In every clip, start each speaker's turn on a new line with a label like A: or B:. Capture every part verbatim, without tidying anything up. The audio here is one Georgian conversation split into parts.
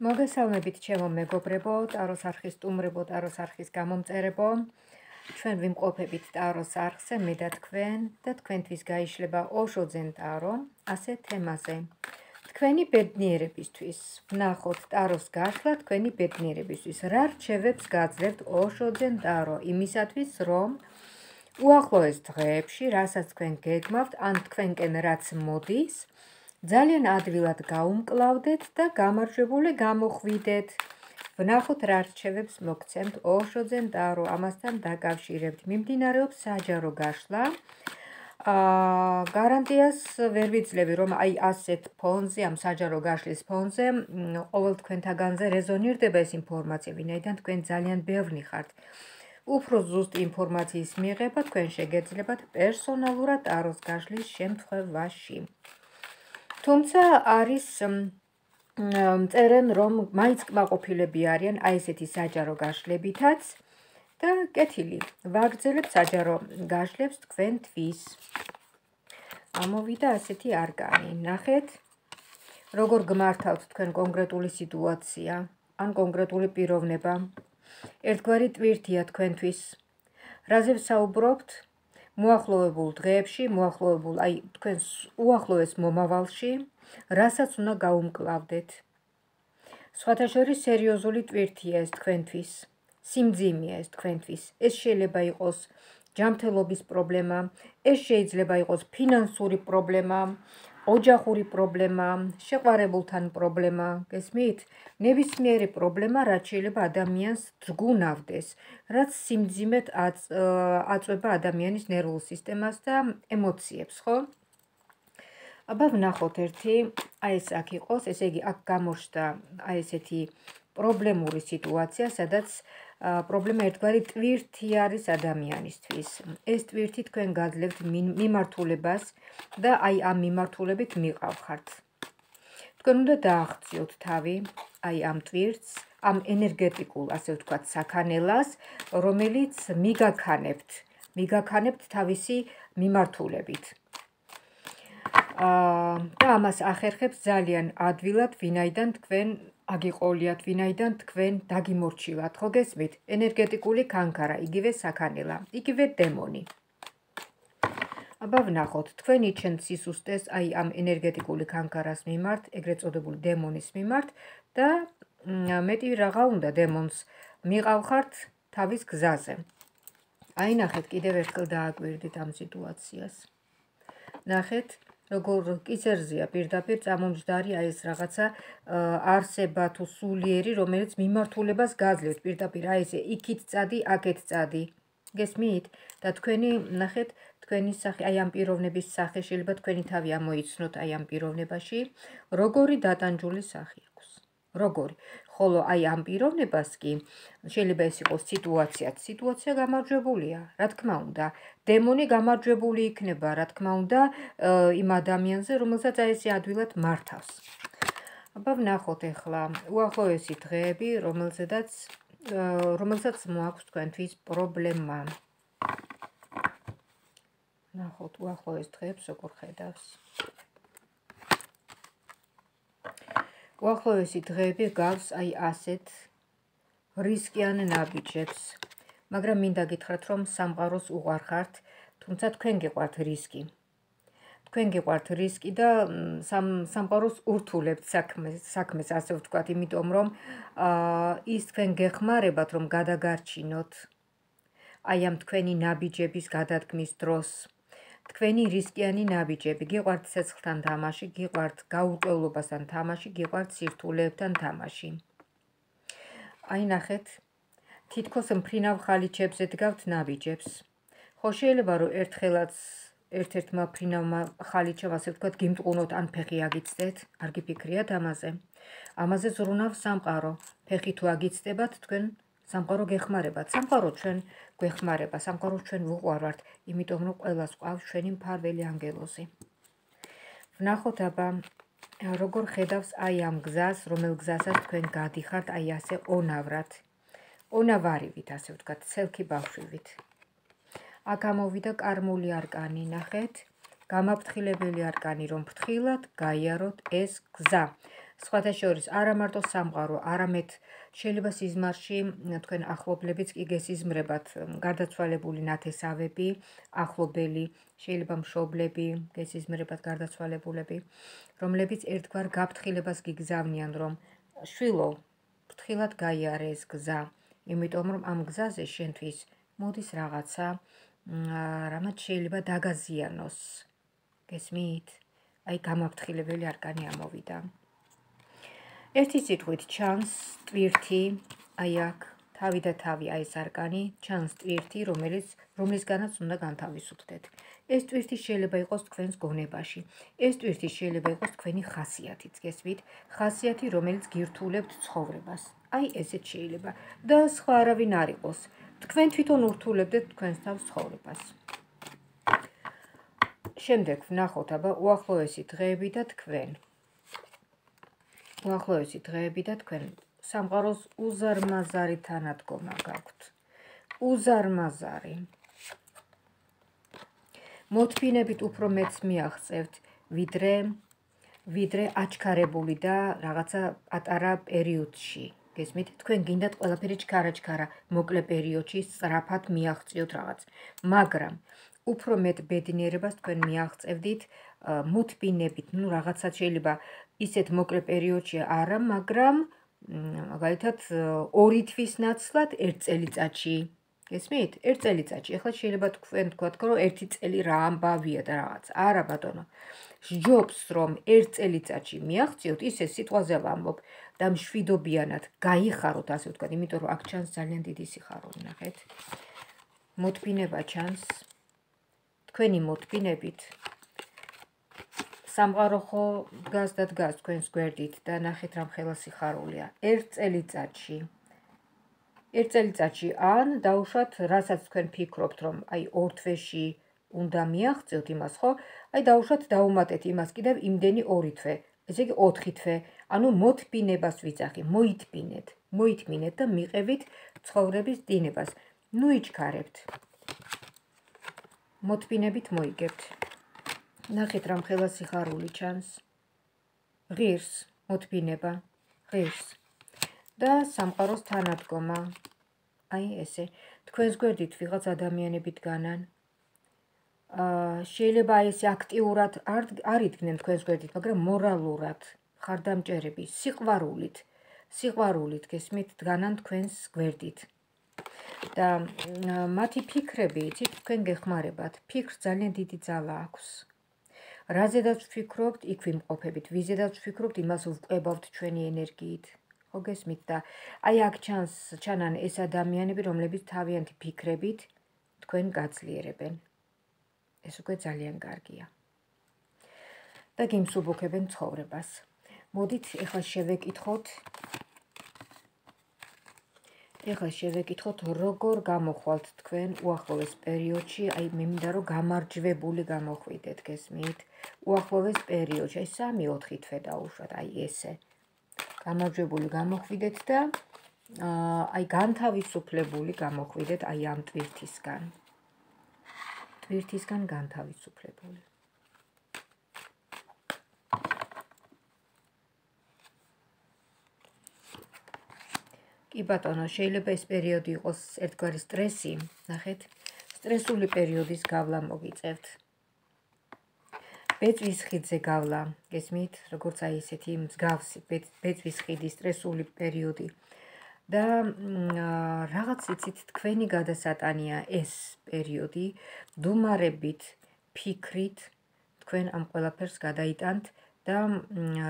A: მოგესალმებით ჩემო მეგობრებო, ტაროს არხის სტუმრებო, ტაროს არხის გამომწერებო. ჩვენ ვიმყოფებით ტაროს არხზე, მე და თქვენ და თქვენთვის გაიშლება ოშოძენ ტარო, ასე თემაზე. თქვენი ბედნიერებისთვის, ვნახოთ ტაროს გაშლა თქვენი ბედნიერებისთვის. რა რჩევებს გაძლევთ ოშოძენ ტარო იმისათვის, რომ უახლოეს დღეებში, რასაც თქვენ გეგმავთ, ან თქვენკენ რაც მოდის, ძალიან ადვილად გაუმკლავდეთ და გამარჯვებული გამოხვიდეთ. ვნახოთ რა რჩევებს მოგცემთ ოშოძენ ტარო ამასთან დაკავშირებით. მიმდინარეობს საჯარო გაშლა. გარანტიას ვერ ვიძლევი, რომ აი ასეთ ფონზე, ამ საჯარო გაშლის ფონზე, ყოველ თქვენთაგანზე რეზონირდება ეს ინფორმაცია, ვინაიდან თქვენ ძალიან ბევრი ხართ. უფრო ზუსტ ინფორმაციის მიღება თქვენ შეგეძლებათ პერსონალურად ტაროს გაშლის შემთხვევაში. თუმცა არის წერენ, რომ მაინც კმაყოფილები არიან აი ესეთი საჯარო გაშლებითაც და კეთილი, ვაგრძელებთ საჯარო გაშლებს თქვენთვის. ამოვიდა ასეთი არკანი. ნახეთ, როგორ გმართავთ თქვენ კონკრეტული სიტუაცია, ან კონკრეტული პიროვნება. ერთგვარი ტვირთია თქვენთვის. რაზე ვსაუბრობთ? მოახლოებულ დღეებში, მოახლოებულ, აი თქვენს უახლოეს მომავალში, რასაც უნდა გაუმკლავდეთ. სხვათა შორის სერიოზული ტვირთია ეს თქვენთვის. სიმძიმეა ეს თქვენთვის. ეს შეიძლება იყოს ჯანმრთელობის პრობლემა, ეს შეიძლება იყოს ფინანსური პრობლემა, ოჯახური პრობლემა, შეყვარებულთან პრობლემა, გესმით? ნებისმიერი პრობლემა, რაც შეიძლება ადამიანს ძგუნავდეს, რაც სიმძიმედ აწვება ადამიანის ნერვულ სისტემას და ემოციებს, ხო? აბა ვნახოთ ერთი, აი ეს აქ იყოს, ესე იგი აქ გამოჩნდა აი ესეთი პრობლემური სიტუაცია, სადაც პრობლემა ერთგვარი ტვირთი არის ადამიანისთვის. ეს ტვირთი თქვენ გაძლევთ მიმართულებას და აი ამ მიმართულებით მიყავხართ. თქვენ უნდა დააღწიოთ თავი, აი ამ ტვირთს, ამ ენერგეტიკულ, ასე ვთქვათ, საქანელას, რომელიც მიგაქანებთ, მიგაქანებთ თავისი მიმართულებით. და ამას ახერხებს ძალიან ადვილად, ვინაიდან თქვენ აგიყოლიათ, ვინაიდან თქვენ დაგიმორჩილათ, ხო გესმით? ენერგეტიკული კანკარა, იგივე საქანელა, იგივე დემონი. აბა ვნახოთ, თქვენ იჩენთ სისუსტეს აი ამ ენერგეტიკული კანკარას მიმართ, ეგრეთ წოდებული დემონის მიმართ და მეტი რაღა უნდა დემონს მიყავხართ თავის გზაზე. აი ნახეთ, კიდევ ერთხელ დააკვირდით ამ სიტუაციას. ნახეთ, როგორ კისერზეა პირდაპირ წამომჯდარი აი ეს რაღაცა არსება თუ სულიერი, რომელიც მიმართულებას გაძლევთ პირდაპირ აი ესე იქით წადი, აქეთ წადი. გესმით? და თქვენი, ნახეთ, თქვენი სახე, აი ამ პიროვნების სახე შეიძლება თქვენი თავი ამოიცნოთ აი ამ პიროვნებაში, როგორი დატანჯული სახე აქვს. როგორი? ხოლო აი ამ პიროვნებას კი შეიძლება ეს იყოს სიტუაციაც. სიტუაცია გამარჯვებულია, რა თქმა უნდა. დემონი გამარჯვებული იქნება, რა თქმა უნდა, იმ ადამიანზე, რომელსაც აი ესე ადვილად მართავს. აბა ვნახოთ ახლა უახლოესი დღეები, რომელზედაც რომელსაც მოაქვს თქვენთვის პრობლემა. ნახოთ უახლოეს დღეებს როგორ ხედავს. უახლოესი დღეები გავს აი ასეთ რისკიან ნაბიჯებს, მაგრამ მინდა გითხრათ, რომ სამყაროს უყვარხართ, თუმცა თქვენ გიყვართ რისკი. თქვენ გიყვართ რისკი და სამყაროს ურთულებთ საქმეს, ასე ვთქვათ, იმიტომ რომ ის თქვენ გეხმარებათ, რომ გადაგარჩინოთ აი ამ თქვენი ნაბიჯების გადადგმის დროს. თქვენი რისკიანი ნაბიჯები, გიყვართ ცეცხლთან თამაში, გიყვართ გაურკვევლობასთან თამაში, გიყვართ სირთულეებთან თამაში. აი ნახეთ, თითქოს მფრინავ ხალიჩებზე დგავთ ნაბიჯებს. ხო შეიძლება რომ ერთხელაც ერთ-ერთმა მფრინავმა ხალიჩამ, ასე ვთქვათ, გიმტყუნოთ ან ფეხი აგიცდეთ, არ გიფიქრიათ ამაზე. ამაზე ზრუნავს სამყარო. ფეხი თუ აგიცდებათ, თქვენ სამყარო გეხმარებათ. სამყარო ჩვენ გვეხმარება, სამყარო ჩვენ ვუყვარვართ, იმიტომ რომ ყველას ყავს ჩვენი მფარველი ანგელოზი. ვნახოთ აბა როგორ ხედავს აი ამ გზას, რომელ გზასაც თქვენ გადიხართ, აი ასე ონავრად. ონავარივით, ასე ვთქვათ, ცელქი ბავშვივით. აქ ამოვიდა კარმული არკანი, ნახეთ, გამაფრთხილებელი არკანი, რომ ფრთხილად გაიაროთ ეს გზა. სხვათა შორის არა მარტო სამყარო, არამედ შეიძლება სიზმარში თქვენ ახლობლებიც კი გესიზმრებათ, გარდაცვალებული ნათესავები, ახლობელი, შეიძლება მშობლები გესიზმრებათ გარდაცვალებულები, რომლებიც ერთგვარ გაფრთხილებას გიგზავნიან, რომ შვილო, ფრთხილად გაიარე ეს გზა, იმიტომ რომ ამ გზაზე შენთვის მოდის რაღაცა, რამაც შეიძლება დაგაზიანოს. გესმით? აი გამაფრთხილებელი არკანი ამოვიდა. ერთი სიტყვით ჩანს ტვირთი, აი აქ თავი და თავი, აი ეს არკანი, ჩანს ტვირთი, რომელიც რომლისგანაც უნდა განთავისუფლდეთ. ეს ტვირთი შეიძლება იყოს თქვენს გონებაში. ეს ტვირთი შეიძლება იყოს თქვენი ხასიათიც, გესმით? ხასიათი, რომელიც გირთულებთ ცხოვრებას. აი ესეც შეიძლება და სხვა არავინ არ იყოს. თქვენ თვითონ ურთულებდეთ თქვენს თავს ცხოვრებას. შემდეგ ვნახოთ აბა უახლოესი დღეები და თქვენ. უახლოესი დღეები და თქვენ სამყაროს უზარმაზარი თანადგომა გაქვთ. უზარმაზარი. მოთმინებით უფრო მეც მიაღწევთ, ვიდრე ვიდრე აჩქარებული და რაღაცა პატარა პერიოდში. გესმით? თქვენ გინდათ ყველაფერი ჩქარა-ჩქარა, მოკლე პერიოდში სწრაფად მიაღწიოთ რაღაც. მაგრამ უფრო მეტ ბედნიერებას თქვენ მიაღწევდით მოთმინებით, ნუ რაღაცა შეიძლება ისეთ მოკლე პერიოდში არა, მაგრამ მაგალითად ორი თვის ნაცვლად ერთ წელიწადში. გესმით? ერთ წელიწადში. ეხლა შეიძლება თქვენ თქვათ, რომ ერთი წელი რა ამბავია და რაღაც. არა ბატონო. სჯობს რომ ერთ წელიწადში მიაღწიოთ, ისე სიტყვაზე ვამბობ და მშვიდობიანად გაიხაროთ, ასე ვთქვათ, იმიტომ რომ აქ ჩანს ძალიან დიდი სიხარული, ნახეთ. მოთმინება ჩანს. თქვენი მოთმინებით სამყარო ხო დგას და დგას თქვენს გვერდით და ნახეთ რა მხელა სიხარულია. ერთ წელიწადში. ერთ წელიწადში ან დაუშვათ, რასაც თქვენ ფიქრობთ, რომ აი ორ თვეში უნდა მიაღწიოთ იმას, ხო? აი დაუშვათ დაუმატეთ იმას კიდევ იმდენი ორი თვე. ესე იგი ოთხი თვე. ანუ მოთმინებას ვიძახი, მოითმინეთ, მოითმინეთ და მიყევით ცხოვრების დინებას. ნუ იჩქარებთ. მოთმინებით მოიგებთ. ნახეთ რა მხელა სიხარული ჩანს. ღირს მოთმინება, ღირს. და სამყაროს თანადგომა. აი ესე. თქვენს გვერდით ვიღაც ადამიანები დგანან. შეიძლება აი ესე აქტიურად არ იდგნენ თქვენს გვერდით, მაგრამ მორალურად, ხარდამჭერები, სიყვარულით, სიყვარულით, გესმით, დგანან თქვენს გვერდით. და მათი ფიქრები, იცით, თქვენ გეხმარებათ. ფიქრს ძალიან დიდი ძალა აქვს. რაზედაც ვფიქრობთ, იქ ვიმყოფებით. ვიზედაც ვფიქრობთ, იმას ვყვებავთ ჩვენი ენერგიით. ხო გესმით და აი აქ ჩანს ჩანან ეს ადამიანები, რომლებიც თავიანთი ფიქრებით თქვენ გაძლიერებენ. ეს უკვე ძალიან კარგია. და გიმსუბუქებენ ცხოვრებას. მოდით ეხლა შევეკითხოთ ეხლა შევეკითხოთ, როგორ გამოხვალთ თქვენ უახლოეს პერიოდში, აი მე მინდა რომ გამარჯვებული გამოხვიდეთ, გესმით? უახლოეს პერიოდში, აი სამი ოთხი თვე დაუშვათ, აი ესე. გამარჯვებული გამოხვიდეთ და აი განთავისუფლებული გამოხვიდეთ აი ამ ტვირთისგან. ტვირთისგან განთავისუფლებული. კი ბატონო, შეიძლება ეს პერიოდი იყოს ერთგვარი სტრესი, ნახეთ, სტრესული პერიოდის გავლა მოგიწევთ. ბეწვის ხიდზე გავლა, გესმით, როგორც აი ესეთი მსგავსი ბეწვის ხიდის სტრესული პერიოდი. და რაღაც იცით, თქვენი გადასატანია ეს პერიოდი, დუმარებით, ფიქრით, თქვენ ამ ყველაფერს გადაიტანთ და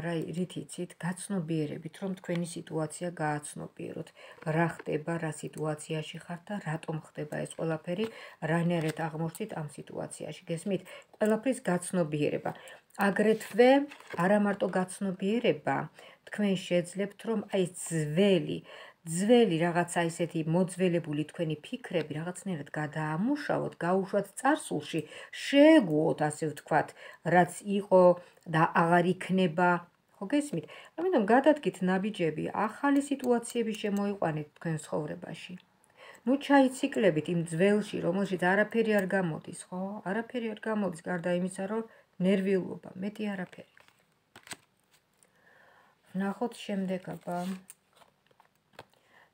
A: რა რით იცით, გაცნობიერებით, რომ თქვენი სიტუაცია გააცნობიეროთ. რა ხდება, რა სიტუაციაში ხართ და რატომ ხდება ეს ყველაფერი, რანაირად აღმოჩნდით ამ სიტუაციაში. გესმით, ყველაფრის გაცნობიერება. აგრეთვე არა მარტო გაცნობიერება, თქვენ შეძლებთ, რომ აი ძველი ძველი რაღაცა ისეთი მოძველებული თქვენი ფიქრები რაღაცნაირად გადაამუშავოთ, გაუშვათ წარსულში, შეეგუოთ, ასე ვთქვათ, რაც იყო და აღარ იქნება, ხო გესმით? ამიტომ გადადგით ნაბიჯები, ახალი სიტუაციები შემოიყვანეთ თქვენ ცხოვრებაში. ნუ ჩაიციკლებით იმ ძველში, რომელშიც არაფერი არ გამოდის, ხო? არაფერი არ გამოდის, გარდა იმისა, რომ ნერვიულობა, მეტი არაფერი. ნახოთ შემდეგ აბა.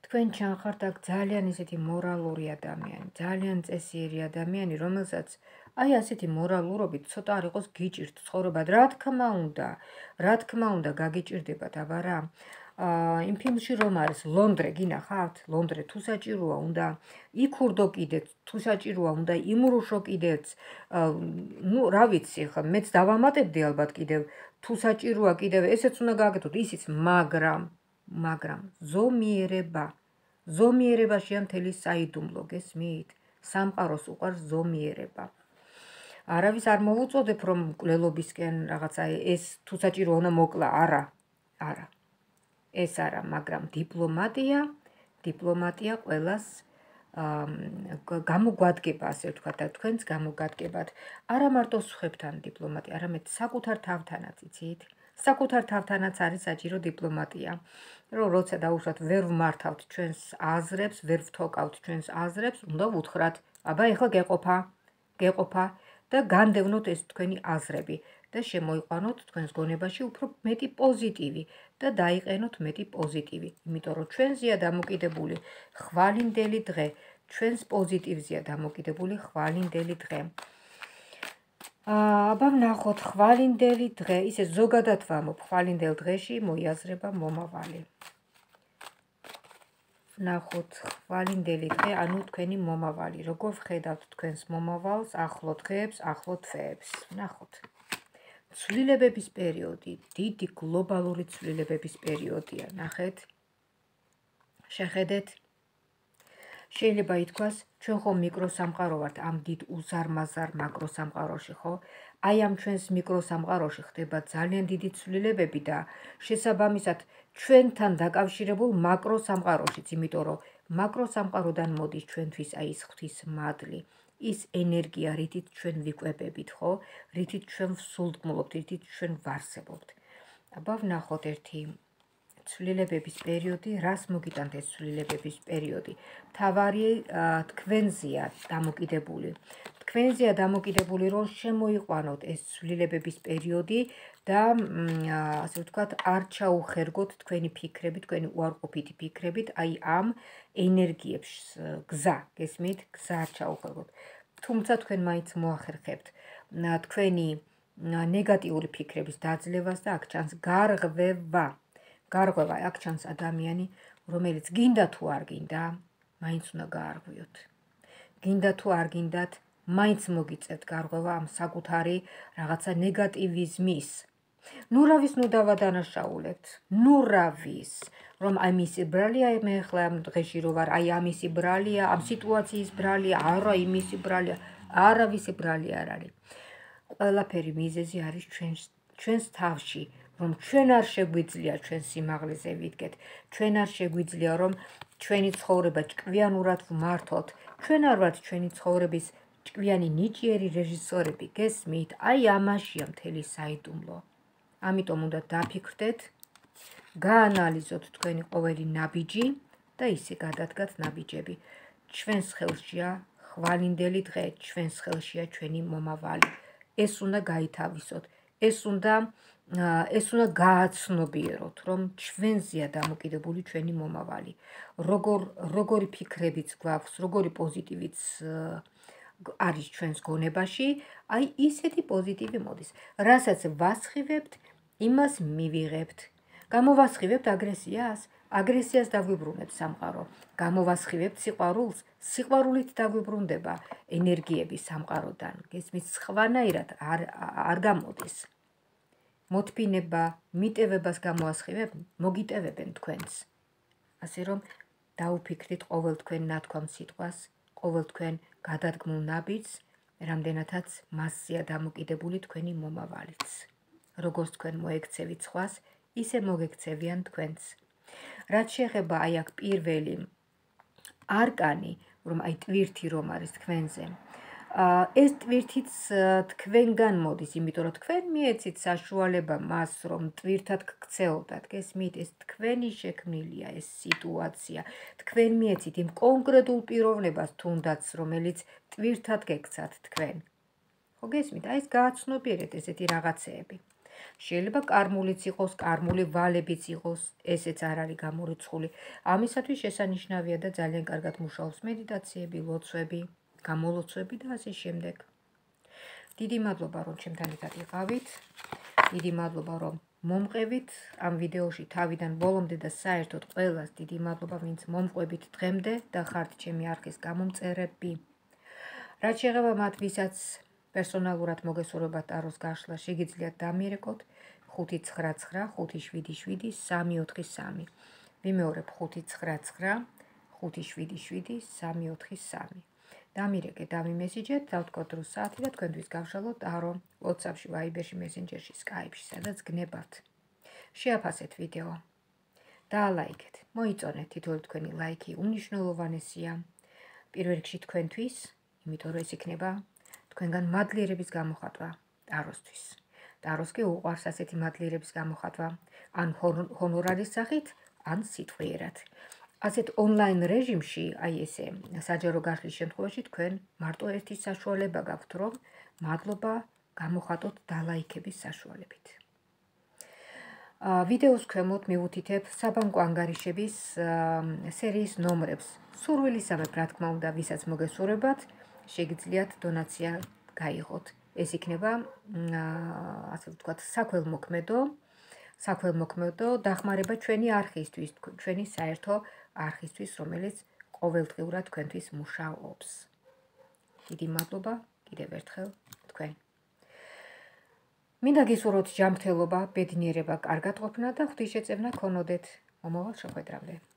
A: თქვენ ჩანხართ აქ ძალიან ისეთი მორალური ადამიანი, ძალიან წესიერი ადამიანი, რომელსაც აი ასეთი მორალურობით ცოტა არ იყოს გიჭირთ ცხოვრება. რა თქმა უნდა, რა თქმა უნდა გაგიჭირდებათ, აბა რა. იმ ფილმში რომ არის ლონდრე, გინახავთ? ლონდრე თუ საჭიროა უნდა იქურდო კიდეც, თუ საჭიროა უნდა იმრუშო კიდეც. ნუ რა ვიცი, ხა მეც დავამატებდი ალბათ კიდევ, თუ საჭიროა კიდევ ესეც უნდა გააკეთოთ, ისიც, მაგრამ, მაგრამ ზომიერება, ზომიერებაშია მთელი საიდუმლო, გესმით? სამყაროს უყვარს ზომიერება. არავის არ მოვუწოდებ, რომ მკვლელობისკენ რაღაცა ეს თუ საჭირო უნდა მოკლა, არა, არა. ეს არა, მაგრამ დიპლომატია, დიპლომატია ყველას გამოგვადგება, ასე ვთქვათ, და თქვენც გამოგადგებათ. არა მარტო სხვებთან დიპლომატია, არამედ საკუთარ თავთანაც, იცით? საკუთარ თავთანაც არის საჭირო დიპლომატია. რომ როცა დაუშვათ ვერ ვმართავთ ჩვენს აზრებს, ვერ ვთოკავთ ჩვენს აზრებს, უნდა ვუთხრათ, აბა ეხლა გეყოფა, გეყოფა და განდევნოთ ეს თქვენი აზრები და შემოიყვანოთ თქვენს გონებაში უფრო მეტი პოზიტივი და დაიყენოთ მეტი პოზიტივი, იმიტომ რომ ჩვენზეა დამოკიდებული ხვალინდელი დღე, ჩვენს პოზიტივზეა დამოკიდებული ხვალინდელი დღე. აბა ვნახოთ ხვალინდელი დღე, ისე ზოგადად ვამბობ, ხვალინდელ დღეში მოიაზრება მომავალი. ვნახოთ ხვალინდელი დღე, ანუ თქვენი მომავალი, როგორ ვხედავთ თქვენს მომავალს, ახლო დღეებს, ახლო თვეებს. ვნახოთ. ცვლილებების პერიოდი, დიდი გლობალური ცვლილებების პერიოდია, ნახეთ. შეხედეთ. შეიძლება ითქვას, ჩვენ ხომ მიკროსამყარო ვართ ამ დიდ უზარმაზარ მაკროსამყაროში, ხო? აი ამ ჩვენს მიკროსამყაროში ხდება ძალიან დიდი ცვლილებები და შესაბამისად ჩვენთან დაკავშირებულ მაკროსამყაროშიც, იმიტომ რომ მაკროსამყაროდან მოდის ჩვენთვის აი ეს ღვთის მადლი, ის ენერგია, რითიც ჩვენ ვიკვებებით, ხო? რითიც ჩვენ ვსულტყმულობთ, რითიც ჩვენ ვარსებობთ. აბა ვნახოთ ერთი ცვლილებების პერიოდი, რას მოგიტანთ ეს ცვლილებების პერიოდი? მთავარი თქვენზეა დამოკიდებული. თქვენზეა დამოკიდებული, რომ შემოიყვანოთ ეს ცვლილებების პერიოდი და ასე ვთქვათ, არ ჩაუხერგოთ თქვენი ფიქრები, თქვენი უარყოფითი ფიქრებით, აი ამ ენერგიებს გზა, გესმით? გზა არ ჩაუხერგოთ. თუმცა თქვენ მაინც მოახერხებთ თქვენი ნეგატიური ფიქრების დაძლევას და აქ ჩანს გარღვევა. გარღვევა, აქ ჩანს ადამიანი, რომელიც გინდა თუ არ გინდა, მაინც უნდა გაარღვიოთ. გინდა თუ არ გინდათ, მაინც მოგიწევთ გარღვევა ამ საკუთარი რაღაცა ნეგატივიზმის. ნუ რავის ნუ დავადანაშაულებთ, ნუ რავის, რომ აი მისი ბრალია მე ახლა ამ დღეში რო ვარ, აი ამისი ბრალია, ამ სიტუაციის ბრალია, არა იმისი ბრალია, არავისი ბრალი არ არის. ყველაფერი მიზეზი არის ჩვენს ჩვენს თავში. რომ ჩვენ არ შეგვიძლია ჩვენ სიმაღლეზე ვიდგეთ, ჩვენ არ შეგვიძლია რომ ჩვენი ცხოვრება ჭკვიანურად ვმართოთ, ჩვენ არ ვართ ჩვენი ცხოვრების ჭკვიანი ნიჭიერი რეჟისორები, გესმით? აი ამაშია მთელი საიდუმლო. ამიტომ უნდა დაფიქრდეთ, გაანალიზოთ თქვენი ყოველი ნაბიჯი და ისე გადადგათ ნაბიჯები. ჩვენს ხელშია ხვალინდელი დღე, ჩვენს ხელშია ჩვენი მომავალი. ეს უნდა გაითავისოთ, ეს უნდა ეს უნდა გააცნობიეროთ, რომ ჩვენზეა დამოკიდებული ჩვენი მომავალი. როგორ როგორი ფიქრებიც გვაქვს, როგორი პოზიტივიც არის ჩვენს გონებაში, აი ისეთი პოზიტივი მოდის. რასაც ვასხივებთ, იმას მივიღებთ. გამოვასხივებთ აგრესიას, აგრესიას დაგვიბრუნებს სამყარო. გამოვასხივებთ სიყვარულს, სიყვარულით დაგვიბრუნდება ენერგიები სამყაროდან. გესმით, სხვანაირად არ არ გამოდის. მოთფინება, მიტევებას გამოასხივებ, მოგიტევებენ თქვენს. ასე რომ დაუფიქრით ყოველ თქვენ ნათქვამ სიტყვას, ყოველ თქვენ გადადგმულ ნაბიჯს, რამდენადაც მასზეა დამოკიდებული თქვენი მომავალიც. როგორც თქვენ მოექცევით სხვას, ისე მოგექცევიან თქვენს. რაც შეეხება აი აქ პირველი არკანი, რომ აი ტვირთი რომ არის თქვენზე, ეს ტვირთიც თქვენგან მოდის, იმიტომ რომ თქვენ მიეცით საშუალება მას, რომ ტვირთად გქცეოდათ, გესმით, ეს თქვენი შექმნილია ეს სიტუაცია. თქვენ მიეცით იმ კონკრეტულ პიროვნებას თუნდაც, რომელიც ტვირთად გექცათ თქვენ. ხო გესმით, აი ეს გააცნობიერეთ ესეთი რაღაცეები. შეიძლება კარმულიც იყოს, კარმული ვალებიც იყოს, ესეც არ არის გამორიცხული. ამისათვის შესანიშნავია და ძალიან კარგად მუშაობს მედიტაციები, ლოცვები, გამოლოცვები და ასე შემდეგ. დიდი მადლობა, რომ ჩემთან ერთად იყავით. დიდი მადლობა, რომ მომყევით ამ ვიდეოში თავიდან ბოლომდე და საერთოდ ყველას დიდი მადლობა, ვინც მომყვებით დღემდე და ხართ ჩემი არხის გამომწერები. რაც შეეხება მათ, ვისაც პერსონალურად მოგესურვებათ ტაროს გაშლა, შეგიძლიათ დამირეკოთ ხუთი ცხრა ცხრა ხუთი შვიდი შვიდი სამი ოთხი სამი. ვიმეორებ ხუთი ცხრა ცხრა ხუთი შვიდი შვიდი სამი ოთხი სამი. დამირეკეთ, დამიმესიჯეთ, დავთქვათ დრო საათი და თქვენთვის გავშალოთ ტარო WhatsApp-ში, Viber-ში, Messenger-ში, Skype-ში, სადაც გნებავთ. შეაფასეთ ვიდეო. დაალაიქეთ. მოიწონეთ, თითოეული თქვენი ლაიქი უმნიშვნელოვანესია. პირველ რიგში თქვენთვის, იმიტომ რომ ეს იქნება თქვენგან მადლიერების გამოხატვა ტაროსთვის. ტაროს კი უყვარს ასეთი მადლიერების გამოხატვა, ან ჰონორარის სახით, ან სიტყვიერად. ასეთ ონლაინ რეჟიმში, აი ესე, საჯარო გაშლის შემთხვევაში თქვენ მარტო ერთი საშუალება გაქვთ, რომ მადლობა გამოხატოთ დალაიქების საშუალებით. ვიდეოს ქვემოთ მივუთითებ საბანკო ანგარიშების სერიის ნომრებს. სურვილისამებრ, რა თქმა უნდა, ვისაც მოგესურვებათ, შეგიძლიათ დონაცია გაიღოთ. ეს იქნება, ასე ვთქვათ, საქველმოქმედო, საქველმოქმედო დახმარება ჩვენი არხისთვის, ჩვენი საერთო არხისთვის, რომელიც ყოველდღიურად თქვენთვის მუშაობს. დიდი მადლობა კიდევ ერთხელ თქვენ. მინდა გისურვოთ ჯანმრთელობა, ბედნიერება, კარგად ყოფნა და ღვთისშეწევნა ქონოდეთ. მომავალ შეხვედრამდე.